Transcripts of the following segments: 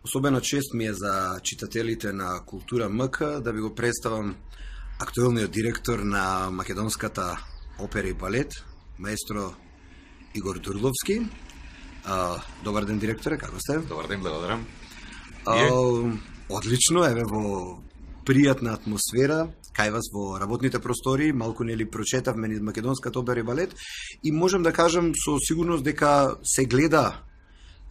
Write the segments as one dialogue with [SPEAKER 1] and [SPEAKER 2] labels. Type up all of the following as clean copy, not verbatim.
[SPEAKER 1] Особена чест ми е за читателите на Култура МК да ви го представам актуелниот директор на македонската опера и балет, маестро Игор Дурловски. Добар ден, директоре, како сте?
[SPEAKER 2] Добар ден, благодарам.
[SPEAKER 1] Одлично, еве во пријатна атмосфера, кај вас во работните простори, малку нели прочетавме низ македонската опера и балет и можам да кажам со сигурност дека се гледа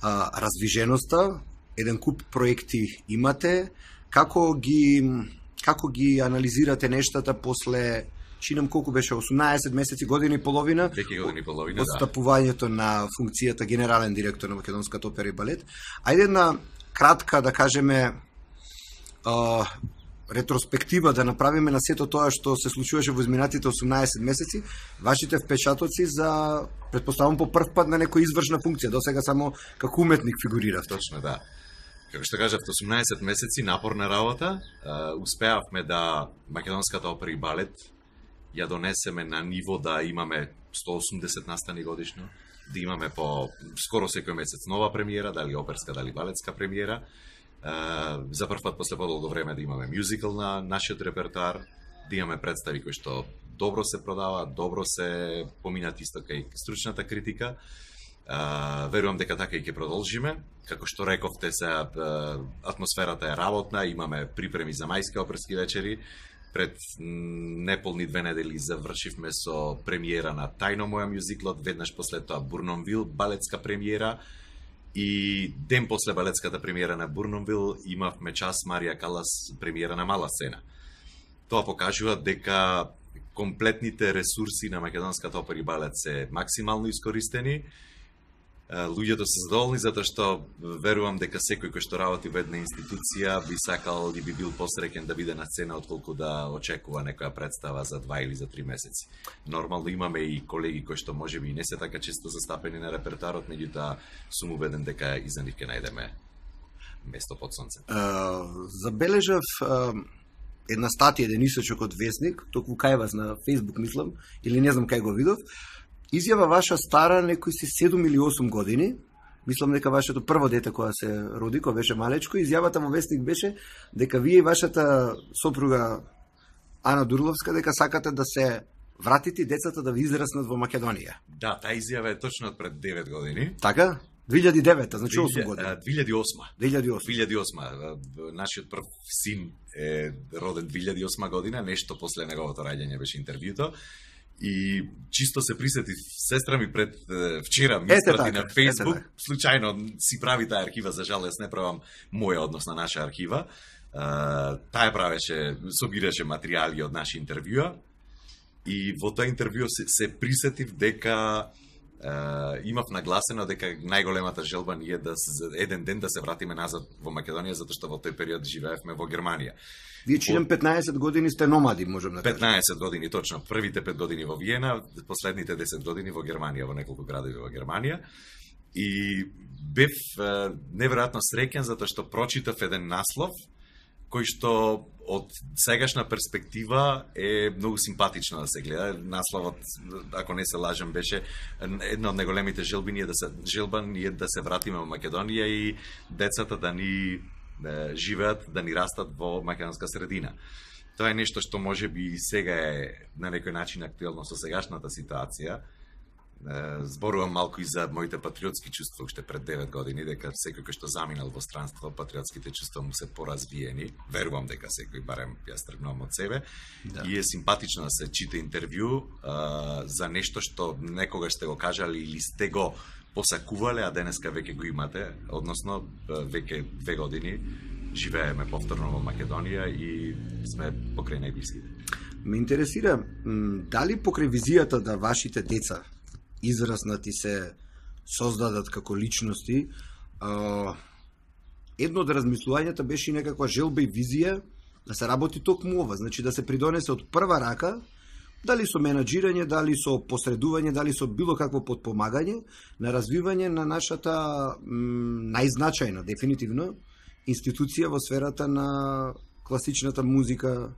[SPEAKER 1] раздвиженоста, еден куп проекти имате, како ги анализирате нештата после, чинам колку беше, 18 месеци, година и половина,
[SPEAKER 2] од
[SPEAKER 1] стапувањето на функцијата генерален директор на македонската опера и балет. Ајде една кратка, да кажеме, ретроспектива да направиме на сето тоа што се случуваше во изминатите 18 месеци, вашите впечатоци за, предпоставам, по прв пат на некоја извршна функција, досега само како уметник фигурирав.
[SPEAKER 2] Точно, да. Како што кажавте, 18 месеци напорна работа, успеавме да македонската опера и балет ја донесеме на ниво да имаме 180 настани годишно, да имаме по скоро секој месец нова премиера, дали оперска, дали балетска премиера. За прв пат после подолго време да имаме мюзикл на нашиот репертоар, да имаме представи кои што добро се продава, добро се поминат исто кај стручната критика. Верувам дека така и ќе продолжиме. Како што рековте, се атмосферата е работна, имаме припреми за мајски оперски вечери. Пред неполни 2 недели завршивме со премиера на Тајно моја мюзиклот, веднаш после тоа Бурномвил, балетска премиера. И ден после балетската премиера на Бурномвил имавме час Марија Калас премиера на мала сцена. Тоа покажува дека комплетните ресурси на македонската опера и балет се максимално искористени. Луѓето се задоволни затоа што верувам дека секој кој што работи во една институција би сакал и би бил посреќен да биде на сцена отколку да очекува некоја представа за 2 или за 3 месеци. Нормално имаме и колеги кои што можеби не се така често застапени на репертоарот, меѓутоа сум убеден дека и за нив ќе најдеме место под сонце.
[SPEAKER 1] Забележав една статија, еден исочок од Весник, токму кај вас на Facebook мислам, или не знам кај го видов. Изјава ваша стара некои си 7 или 8 години, мислам дека вашето прво дете која се роди, која беше малечко, изјавата во Вестник беше дека вие и вашата сопруга Ана Дурловска дека сакате да се вратите и децата да ви израснат во Македонија.
[SPEAKER 2] Да, таа изјава е точно од пред 9 години.
[SPEAKER 1] Така? 2009, значи 8 години.
[SPEAKER 2] 2008. Нашиот прв син е роден 2008 година, нешто после неговото раѓање беше интервјуто. И чисто се присетив, сестра ми пред вчера ми испрати на Facebook, случајно си прави таа архива, за жал јас не правам моја однос на наша архива. Таа правеше, собираше материјали од наши интервјуа и во тоа интервју се присетив дека имав нагласено дека најголемата желба ни е да еден ден да се вратиме назад во Македонија, затоа што во тој период живеевме во Германија.
[SPEAKER 1] Вие чинам 15 години сте номади, можем да кажем.
[SPEAKER 2] 15 години, точно. Првите 5 години во Виена, последните 10 години во Германија, во неколку градови во Германија. И бев неверојатно среќен затоа што прочитав еден наслов кој што од сегашна перспектива е многу симпатично да се гледа. Насловот, ако не се лажам, беше една од најголемите желба ни е да се вратиме во Македонија и децата да ни живеат, да ни растат во македонска средина. Тоа е нешто што може би сега е на некој начин актуелно со сегашната ситуација. Зборувам малку и за моите патриотски чувства уште пред 9 години, дека секој кој што заминал во странство, патриотските чувства му се поразвиени. Верувам дека секој, барем јас тргнувам од себе. Да. И е симпатично да се чита интервју за нешто што некогаш сте го кажали или сте го посакувале, а денеска веќе го имате, односно веќе 2 години живееме повторно во Македонија и сме покрај најблиските.
[SPEAKER 1] Ме интересира, дали покрај визијата да вашите деца израснати се создадат како личности, едно од размислувањата беше и некаква желба и визија да се работи токму ова, значи да се придонесе од прва рака, дали со менаџирање, дали со посредување, дали со било какво подпомагање на развивање на нашата најзначајна, дефинитивно, институција во сферата на класичната музика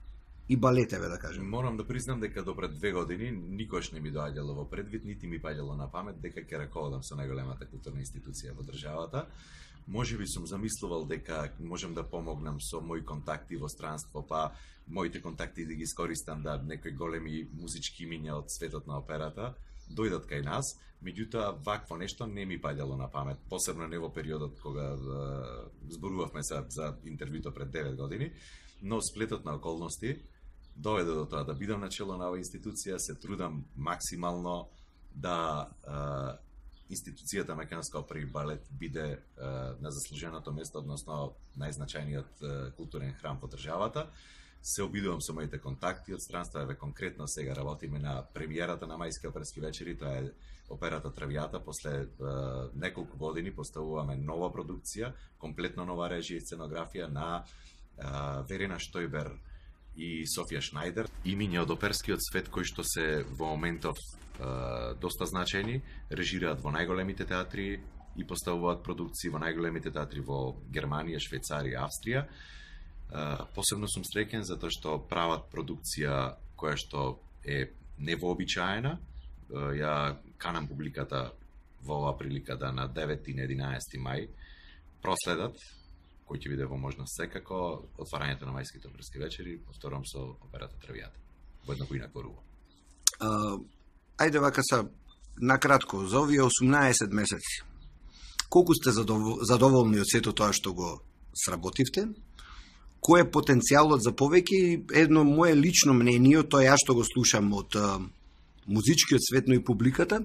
[SPEAKER 1] и балетеве, да кажем.
[SPEAKER 2] Морам да признам дека до пред 2 години никош не ми доаѓало во предвид, нити ми паѓало на памет дека ќе раководам со најголемата културна институција во државата. Може би сум замислувал дека можам да помогнам со мои контакти во странство, па моите контакти да ги искористам да некои големи музички имиња од светот на операта дојдат кај нас, меѓутоа вакво нешто не ми паѓало на памет, посебно не во периодот кога зборувавме за интервјуто пред 9 години, но сплетот на околности доведе до тоа да бидам на чело на оваа институција, се трудам максимално да институцијата Македонска опера и балет биде на заслуженото место, односно најзначајниот културен храм во државата. Се обидувам со моите контакти од странство, еве конкретно сега работиме на премиерата на мајски оперски вечери, тоа е операта Травијата. После неколку години поставуваме нова продукција, комплетно нова режија и сценографија на Верена Штојбер и Софија Шнајдер, имиња од оперскиот свет кои што се во моментов доста значајни, режираат во најголемите театри и поставуваат продукции во најголемите театри во Германија, Швајцарија, Австрија. Посебно сум среќен затоа што прават продукција која што е невообичаена. Ја канам публиката во оваа прилика да на 9 и на 11 мај проследат, кој ќе биде во можност секако, отварањето на мајските оперски вечери, повторам со операта Травијата. Во едно поинакво руво.
[SPEAKER 1] Ајде вака са, накратко, за овие 18 месеци, колку сте задоволни од сето тоа што го сработивте? Кој е потенцијалот за повеќе? Едно мое лично мнение, тоа ја што го слушам од музичкиот свет, но и публиката,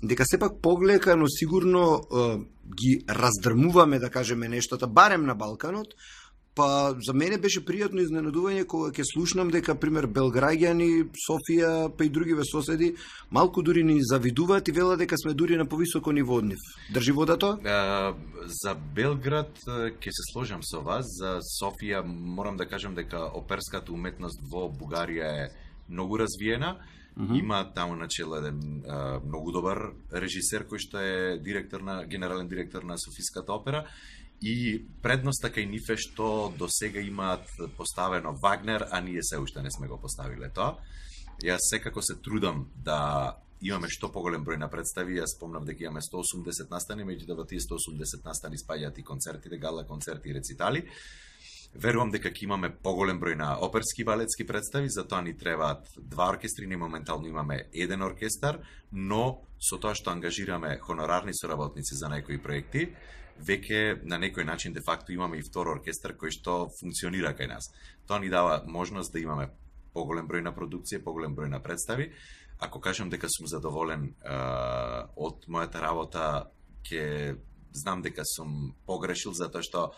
[SPEAKER 1] дека сепак поглека, но сигурно ги раздрмуваме, да кажеме, нештата, барем на Балканот. Па за мене беше пријатно изненадување кога ќе слушнам дека, пример, белграѓани, Софија, па и другиве соседи, малку дури ни завидуваат и велат дека сме дури на повисоко ниво од нив. Држи вода тоа?
[SPEAKER 2] За Белград ќе се сложам со вас. За Софија морам да кажам дека оперската уметност во Бугарија е многу развиена. Има таму начело еден многу добар режисер кој што е генерален директор на Софиската опера. И предноста кај нив е што до сега имаат поставено Вагнер, а ние се уште не сме го поставиле тоа. Јас секако се трудам да имаме што поголем број на представи. Јас спомнав дека имаме 180 настани, меѓутоа во тие 180 настани спаѓаат и концертите, гала концерти и рецитали. Верувам дека ќе имаме поголем број на оперски и балетски представи, затоа ни требаат 2 оркестри, ние моментално имаме 1 оркестар, но со тоа што ангажираме хонорарни соработници за некои проекти, веќе на некој начин де факто имаме и втор оркестар кој што функционира кај нас. Тоа ни дава можност да имаме поголем број на продукција, поголем број на представи. Ако кажам дека сум задоволен од мојата работа, ќе знам дека сум погрешил, затоа што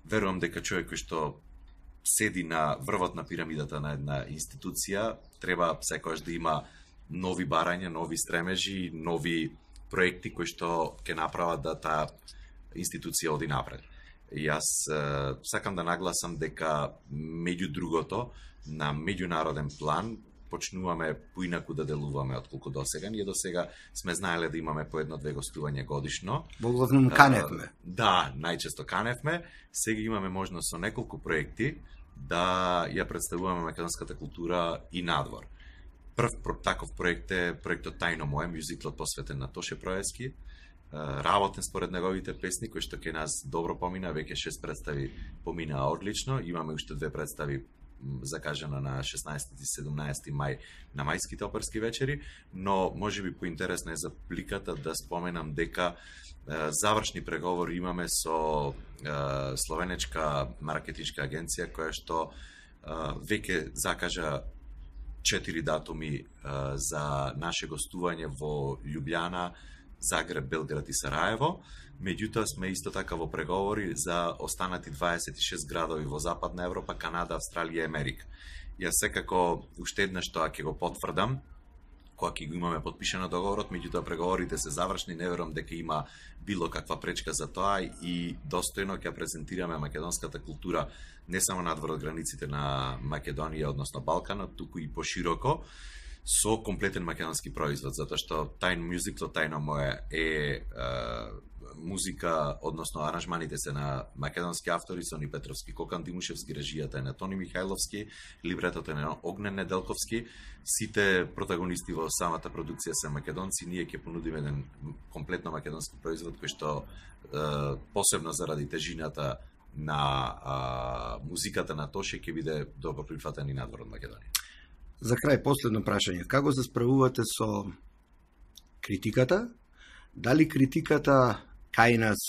[SPEAKER 2] верувам дека човек кој што седи на врвот на пирамидата на една институција треба секогаш да има нови барања, нови стремежи, нови проекти кои што ќе направат да таа институција оди напред. Јас сакам да нагласам дека меѓу другото на меѓународен план почнуваме поинаку да делуваме отколку досега. Ние досега сме знаеле да имаме по 1-2 гостувања годишно.
[SPEAKER 1] Во главном каневме.
[SPEAKER 2] Да, најчесто каневме. Сега имаме можност со неколку проекти да ја представуваме македонската култура и надвор. Прв таков проект е проектот Тајно мое, мюзиклот посветен на Тоше Проевски. Работен според неговите песни, кои што ке нас добро помина, веќе 6 представи поминаа одлично. Имаме уште 2 представи закажано на 16 и 17 мај на мајските оперски вечери, но можеби поинтересно е за публиката да споменам дека завршни преговори имаме со словенечка маркетиншка агенција која што веќе закажа 4 датуми за наше гостување во Љубљана, Загреб, Белград и Сараево. Меѓутоа сме исто така во преговори за останати 26 градови во Западна Европа, Канада, Австралија и Америка. Јас секако уште еднаш тоа ќе го потврдам, кога ќе го имаме подпишано договорот, меѓутоа преговорите се завршни, не верувам дека има било каква пречка за тоа и достојно ќе презентираме македонската култура не само надвор од границите на Македонија, односно Балканот, туку и пошироко, со комплетен македонски производ, затоа што Тајно мюзиклот Тајно мое е музика, односно аранжманите се на македонски автори, Сони Петровски, Кокан Димушевски, режијата е на Тони Михајловски, либретото е на Огнен Неделковски. Сите протагонисти во самата продукција се македонци. Ние ќе понудиме еден комплетно македонски производ кој што посебно заради тежината на музиката на Тоше ќе биде добро прифатен и надвор од Македонија.
[SPEAKER 1] За крај, последно прашање. Како се справувате со критиката? Дали критиката кај нас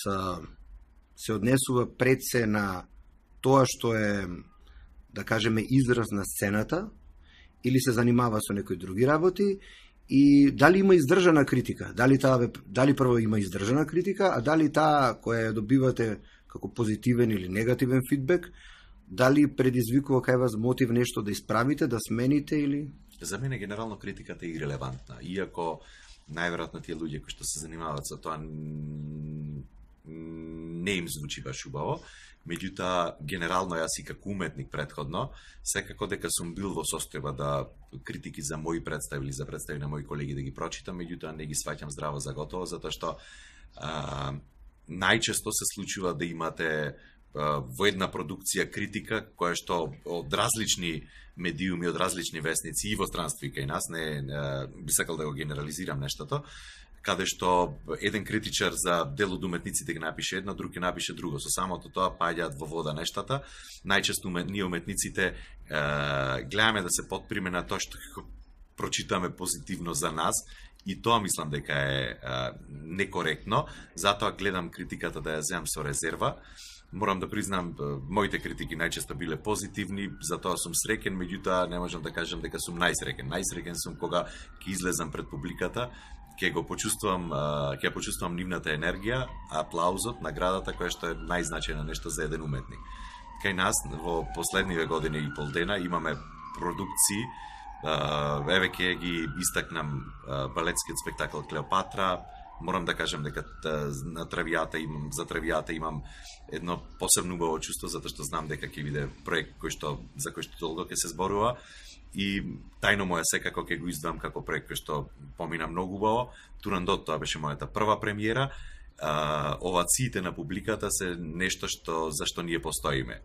[SPEAKER 1] се однесува пред се на тоа што е, да кажеме, израз на сцената, или се занимава со некои други работи, и дали има издржана критика? Дали прво има издржана критика, а дали таа која ја добивате како позитивен или негативен фидбек, дали предизвикува кај вас мотив нешто да исправите, да смените или...
[SPEAKER 2] За мене генерално критиката е ирелевантна, иако најверојатно тие луѓе кои што се занимаваат со тоа не им звучи баш убаво. Меѓутоа, генерално јас и како уметник претходно, секако дека сум бил во состојба да критики за мои представи или за представи на мои колеги да ги прочитам, меѓутоа не ги сваќам здраво за готово, затоа што најчесто се случува да имате во една продукција критика која што од различни медиуми, од различни весници и во странство и кај нас, не би сакал да го генерализирам нештото, каде што еден критичар за дел од уметниците ги напише едно, друг ги напише друго. Со самото тоа паѓаат во вода нештата. Најчесто ние уметниците гледаме да се потприме на тоа што прочитаме позитивно за нас, и тоа мислам дека е некоректно, затоа гледам критиката да ја земам со резерва. Морам да признам, моите критики најчесто биле позитивни, затоа сум среќен, меѓутоа не можам да кажам дека сум најсреќен. Најсреќен сум кога ќе излезам пред публиката, ќе почувствувам нивната енергија, аплаузот, наградата која што е најзначајно нешто за еден уметник. Кај нас во последниве години и пол дена имаме продукции, еве ќе ги истакнам балетскиот спектакл Клеопатра. Морам да кажам дека за Травијата имам едно посебно убаво чувство, затоа што знам дека ќе биде проект за кој што долго ќе се зборува, и тајно му е секако ќе го издам како проект кој што помина многу убаво. Турандот, тоа беше мојата прва премиера. Овациите на публиката се нешто за што ние постоиме.